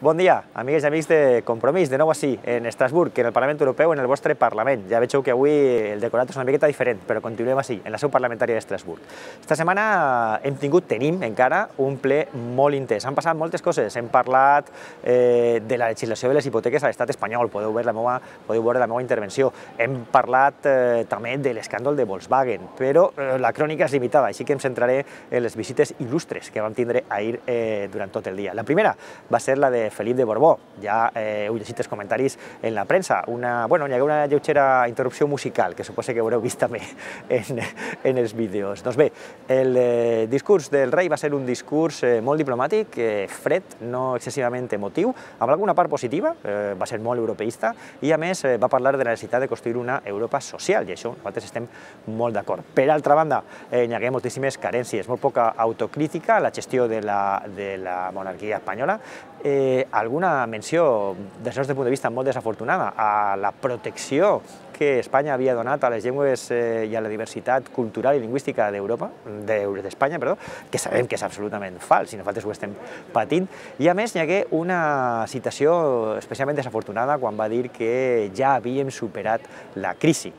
Bon dia, amigues i amics de Compromís, de nou així, en Estrasburg, en el Parlament Europeu, en el vostre Parlament. Ja veieu que avui el decorat és una miqueta diferent, però continuem així, en la seu parlamentària d'Estrasburg. Esta setmana tenim encara un ple molt intens. Han passat moltes coses, hem parlat de la legislació de les hipoteques a l'estat espanyol, podeu veure la meva intervenció. Hem parlat també de l'escàndol de Volkswagen, però la crònica és limitada, així que em centraré en les visites il·lustres que vam tindre ahir durant tot el dia. La primera va ser la de Felip de Borbó. Ja heu llegit els comentaris en la premsa. Hi ha una lleugera interrupció musical, que suposo que haureu vist també en els vídeos. Doncs bé, el discurs del rei va ser un discurs molt diplomàtic, fred, no excessivament emotiu, amb alguna part positiva, va ser molt europeista, i a més va parlar de la necessitat de construir una Europa social, i això nosaltres estem molt d'acord. Per altra banda, hi ha moltíssimes carències, molt poca autocrítica a la gestió de la monarquia espanyola, alguna menció, des del nostre punt de vista, molt desafortunada a la protecció que Espanya havia donat a les llengües i a la diversitat cultural i lingüística d'Espanya, que sabem que és absolutament fals i nosaltres ho estem patint. I a més hi hagué una citació especialment desafortunada quan va dir que ja havíem superat la crisi.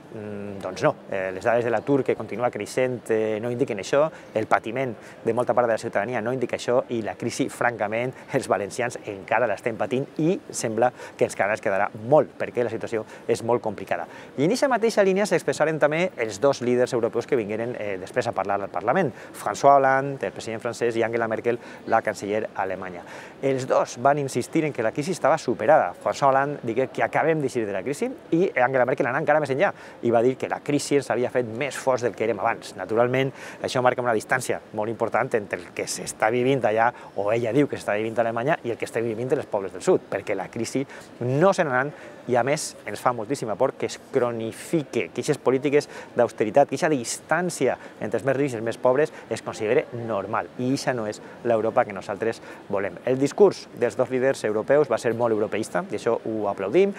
Doncs no, les dades de l'atur que continua creixent no indiquen això, el patiment de molta part de la ciutadania no indica això i la crisi, francament, els valencians encara l'estem patint i sembla que encara ens quedarà molt perquè la situació és molt complicada. I en aquesta mateixa línia s'expressaren també els dos líders europeus que vingueren després a parlar al Parlament, François Hollande, el president francès, i Angela Merkel, la canceller alemanya. Els dos van insistir en que la crisi estava superada. François Hollande digué que acabem d'eixir de la crisi i Angela Merkel anà encara més enllà i va dir que la crisi ens havia fet més forts del que érem abans. Naturalment, això marca una distància molt important entre el que s'està vivint allà, o ella diu que s'està vivint a Alemanya, i el que estem vivint els pobles del sud, perquè la crisi no se n'anà i a més ens fa moltíssima por que es cronifique, que aquestes polítiques d'austeritat, que aquesta distància entre els més rics i els més pobres es consideri normal, i aquesta no és l'Europa que nosaltres volem. El discurs dels dos líders europeus va ser molt europeista, i això ho aplaudim.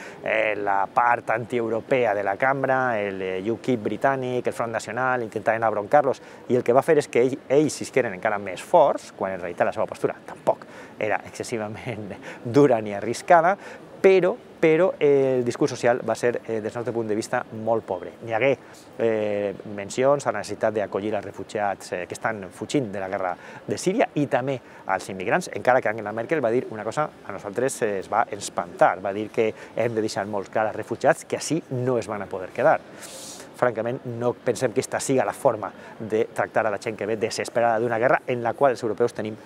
La part antieuropea de la cambra, el UKIP britànic, el Front Nacional, intentaven abroncar-los, i el que va fer és que ells s'isqueren encara més forts, quan en realitat la seva postura tampoc era excessivament dura ni arriscada, però el discurs social va ser, des del nostre punt de vista, molt pobre. Hi hagué mencions a la necessitat d'acollir els refugiats que estan fugint de la guerra de Síria i també als immigrants, encara que Angela Merkel va dir una cosa a nosaltres es va espantar, va dir que hem de deixar molt clar als refugiats que així no es van a poder quedar. Francament, no pensem que aquesta sigui la forma de tractar a la gent que ve desesperada d'una guerra en la qual els europeus tenim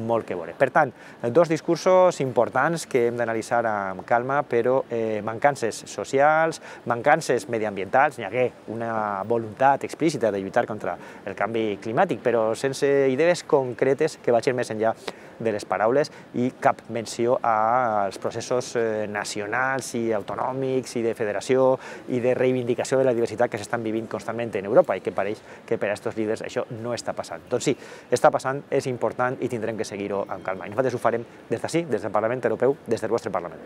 molt que veure. Per tant, dos discursos importants que hem d'analitzar amb calma, però mancances socials, mancances mediambientals. Hi hagué una voluntat explícita de lluitar contra el canvi climàtic, però sense idees concretes que vagin més enllà de les paraules i cap menció als processos nacionals i autonòmics i de federació i de reivindicació de la diversitat que s'estan vivint constantment en Europa i que pareix que per a aquests líders això no està passant. Doncs sí, està passant, és important i tindrem que seguir-ho amb calma. I nosaltres ho farem des d'ací, des del Parlament Europeu, des del vostre Parlament.